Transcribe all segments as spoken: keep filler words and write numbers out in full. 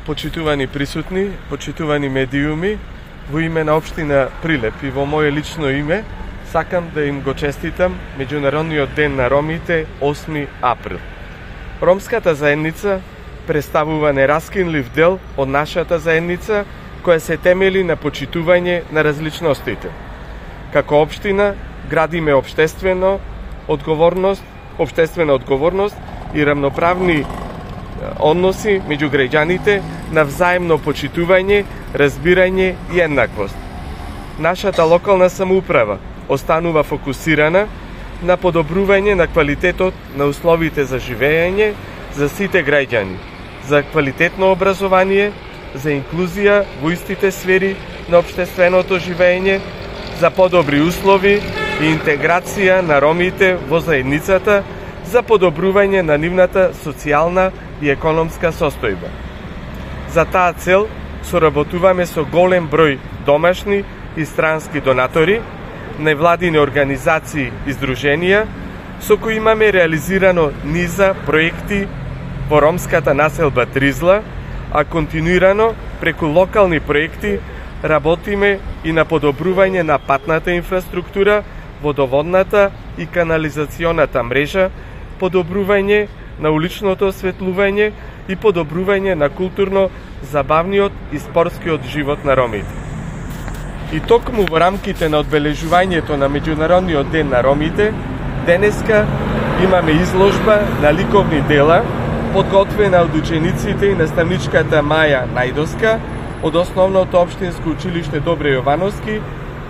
Почитувани присутни, почитувани медиуми, во име на општина Прилеп и во моје лично име, сакам да им го честитам Меѓународниот ден на ромите осми април. Ромската заедница представува нераскинлив дел од нашата заедница, која се темели на почитување на различностите. Како општина градиме општествено одговорност, општествена одговорност и рамноправни односи меѓу граѓаните на взаемно почитување, разбирање и еднаквост. Нашата локална самоуправа останува фокусирана на подобрување на квалитетот на условите за живење за сите граѓани, за квалитетно образование, за инклузија во истите сфери на општественото живење, за подобри услови и интеграција на ромите во заедницата, за подобрување на нивната социјална и економска состојба. За таа цел соработуваме со голем број домашни и странски донатори, невладини организации и здруженија, со кои имаме реализирано низа проекти во ромската населба Тризла, а континуирано преку локални проекти работиме и на подобрување на патната инфраструктура, водоводната и канализационата мрежа, подобрување на уличното осветлување и подобрување на културно-забавниот и спортскиот живот на ромите. И токму во рамките на одбележувањето на Меѓународниот ден на ромите, денеска имаме изложба на ликовни дела, подготвена од учениците и наставничката Маја Најдоска од Основното општинско училиште Добре Јовановски,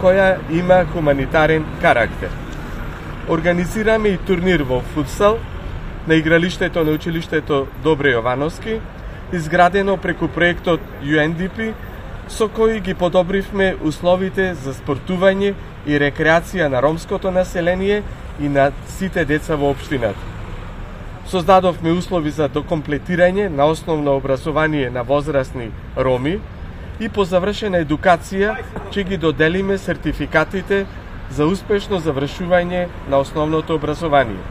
која има хуманитарен карактер. Организираме и турнир во футсал на игралиштето на училиштето Добре Јовановски, изградено преку проектот Ю Ен Ди Пи, со кој ги подобривме условите за спортување и рекреација на ромското население и на сите деца во општината. Создадовме услови за докомплетирање на основно образование на возрастни роми и по завршена едукација ќе ги доделиме сертификатите за успешно завршување на основното образование.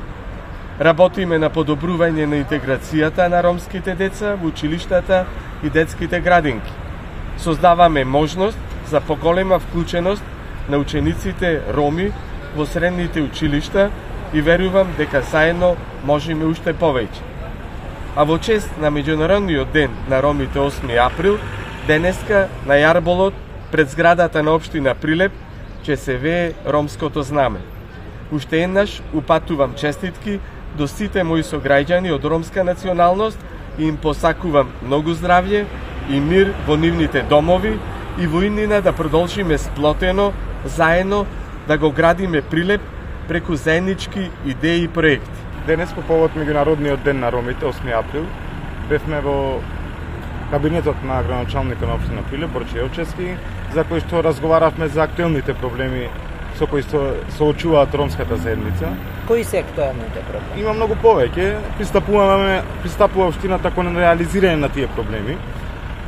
Работиме на подобрување на интеграцијата на ромските деца во училиштата и детските градинки. Создаваме можност за поголема вклученост на учениците роми во средните училишта и верувам дека заедно можеме уште повеќе. А во чест на Меѓународниот ден на ромите осми април, денеска на јарболот пред зградата на општина Прилеп ќе се вее ромското знаме. Уште еднаш упатувам честитки до сите мои сограѓани од ромска националност и им посакувам многу здравје и мир во нивните домови и во иднина да продолжиме сплотено, заедно да го градиме Прилеп преку заеднички идеи и проекти. Денес по повод Меѓународниот ден на ромите осми април бевме во кабинетот на градоначалникот на општина Прилеп Борче Јовчевски, за кој што разговаравме за актуелните проблеми со кои се соочуваат ромската заедница. Кои се актуелните проблеми? Има многу повеќе. Пристапуваме, пристапува општината кон реализирање на тие проблеми.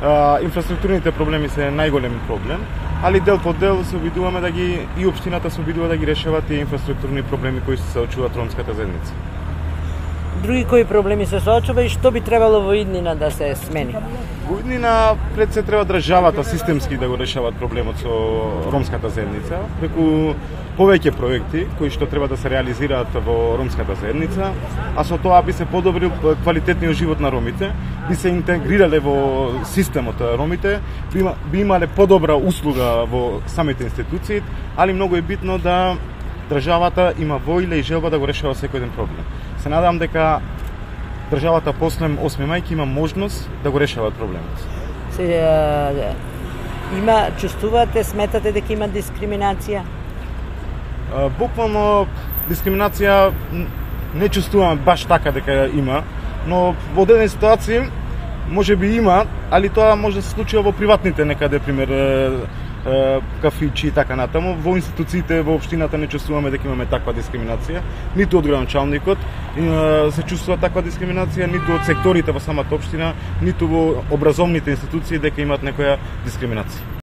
А, инфраструктурните проблеми се најголем проблем, али дел по дел се обидуваме да ги и општината се обидува да ги решава тие инфраструктурни проблеми кои се соочуваат ромската заедница. Други кои проблеми се соочува и што би требало во иднина да се смени? Во иднина пред се треба државата системски да го решават проблемот со ромската заедница, преку повеќе проекти кои што треба да се реализираат во ромската заедница, а со тоа би се подобрил квалитетниот живот на ромите, би се интегрирале во системот ромите, би, би имале подобра услуга во самите институции, али многу е битно да државата има воља и желба да го решава секој еден проблем. Се надам дека државата после осми мај ќе има можност да го решават проблемот. Се, а, има, чувствувате, сметате дека има дискриминација? А, буквално дискриминација не чувствуваме баш така дека има, но во одредени ситуации може би има, али тоа може да се случува во приватните некаде, пример кафичи и така натаму. Во институциите во општината не чувствуваме дека имаме таква дискриминација, ниту од градоначалникот се чувствува таква дискриминација, ниту од секторите во самата општина, ниту во образовните институции дека имаат некоја дискриминација.